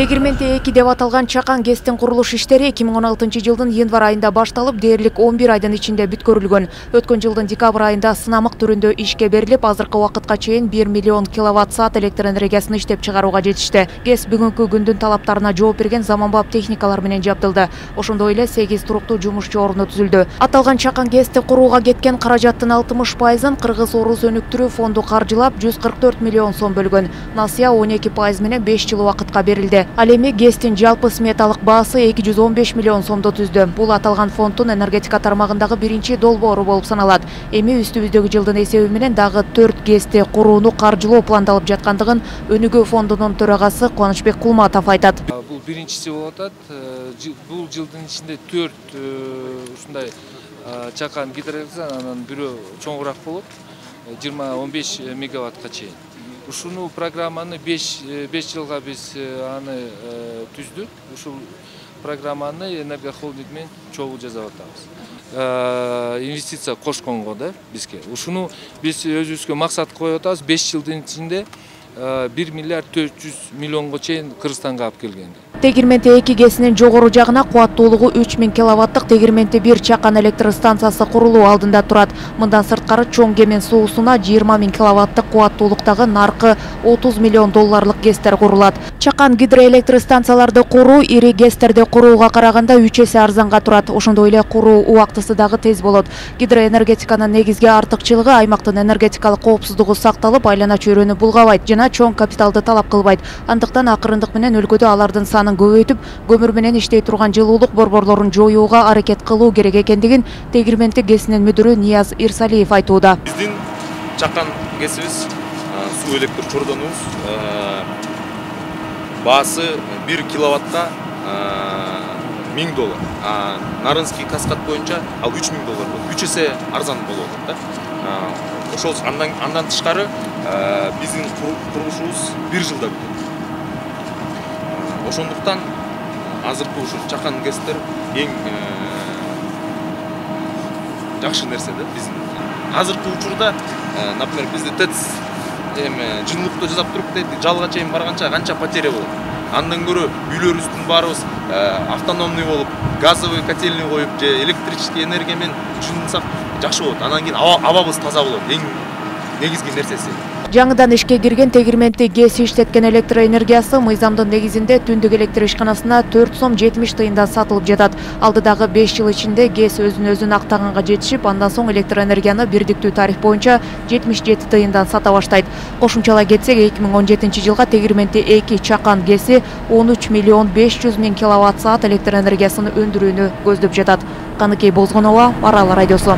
Тегирменте 2 деп аталган чакан ГЭСтин курулуш иштери 2016 жылдын январь айында башталып, дээрлик 11 айдын ичинде бүткөрүлгөн. Өткөн жылдын декабрь айында сынамык түрүндө ишке берилип, азыркы убакытка чейин 1 миллион киловатт-саат электр энергиясын иштеп чыгарууга жетишти. ГЭС бүгүнкү күндүн талаптарына жооп берген заманбап техникалар менен жабдылды. Ошондой эле 8 туруктуу жумушчу орну түзүлдү. Аталган чакан ГЭСти курууга кеткен каражаттын 60%-ын Кыргыз-Орус өнүктүрүү фонду каржылап, 144 миллион сом бөлгөн. Насыя 12% менен 5 жыл убакытка берилди. Ал эми ГЭСтин жалпы сметалык баасы 215 миллион сомду түздү. Бул аталган фонддун энергетика тармагындагы биринчи долбоору болуп саналат. Эми үстүбүздөгү жылдын эсеби менен дагы 4 ГЭСти курууну каржылоо пландалып жаткандыгын Өнүгүү фондунун төрагасы Кубанычбек Кулматов айтат. Бул биринчиси болуп атат. Бул жылдын ичинде 4 ушундай чакан гидроэлектр, анан бирөө чоңураак болот, 20-15 мегаваттка чейин. Ушуну программаны 5 жылга биз аны түздүк. Ушул программаны Энергия холдинг менен чогуу жасап атабыз. Инвестиция кошконго да бизге. Ушуну биз өзүбүзгө максат коюп атабыз, 5 жылдын ичинде 1 миллиард 400 миллионго чейин Кыргызстанга алып келгенди. Тегирменте 2 ГЭСинин жогору жагына кубаттуулугу 3000 киловаттык Тегирменте 1 чакан электр станциясы курулуу алдында турат. Мындан сырткары чоң Кемен суусуна 20 000 киловаттык кубаттуулуктагы наркы 30 миллион долларлык ГЭСтер курулат. Чакан гидроэлектр станцияларды куруу ири ГЭСтерди курууга караганда 3 эсе арзанга турат. Ошондой эле куруу убактысы дагы тез болот. Гидроэнергетиканын негизги артыкчылыгы аймактын энергетикалык коопсуздугу сакталып, айлана чөйрөнү булгабайт жана чоң капиталды талап кылбайт. Андыктан акырындык менен өлкөдө алардын санын көбөйтүп, көмүр менен иштей турган жылуулук борборлорун жоюуга аракет кылуу керек экендигин Тегирменте ГЭСинин мүдүрү Нияз Ирсалиев айтууда. Биздин чакан ГЭСибиз суу электр чордонубуз баасы 1 киловаттка $1000. Нарынский каскад боюнча ал $3000 болот. 3 эсе арзан болуп атат да. Ошол андан тышкары биздин курулушубуз 1 жылда бүтөт. Ошондуктан азыркы ушул чакан ГЭСтер эң жакшы нерсе да биздин. Азыркы учурда, например, бизде ТЭЦ жыйынтыкты жасап туруп, жалга чейин барганча канча потеря болот. Андан көрө үйлөрүбүздүн баарыбыз автономный болуп, газовый котельный коюп, же электрический энергия менен жыйынсак жакшы болот. Андан кийин абабыз таза болот. Эң негизги нерсеси. Жаңыдан ишке кирген Тегирменте ГЭС иштеткен электр энергиясы мыйзамдын негизинде түндүк электр ишканасына 4 сом 70 тыйындан сатылып жатат. Алдыдагы 5 жыл ичинде ГЭС өзүн актаганга жетишип, андан соң электр энергияны бирдиктүү тариф боюнча 77 тыйындан сата баштайт. Кошумчалай кетсек, 2017 жылга Тегирменте 2 чакан ГЭСи 13 миллион 500 000 киловатт-саат электр энергиясын өндүрүүнү көздөп жатат. Каныкей Бозгонова, Арал радиосу.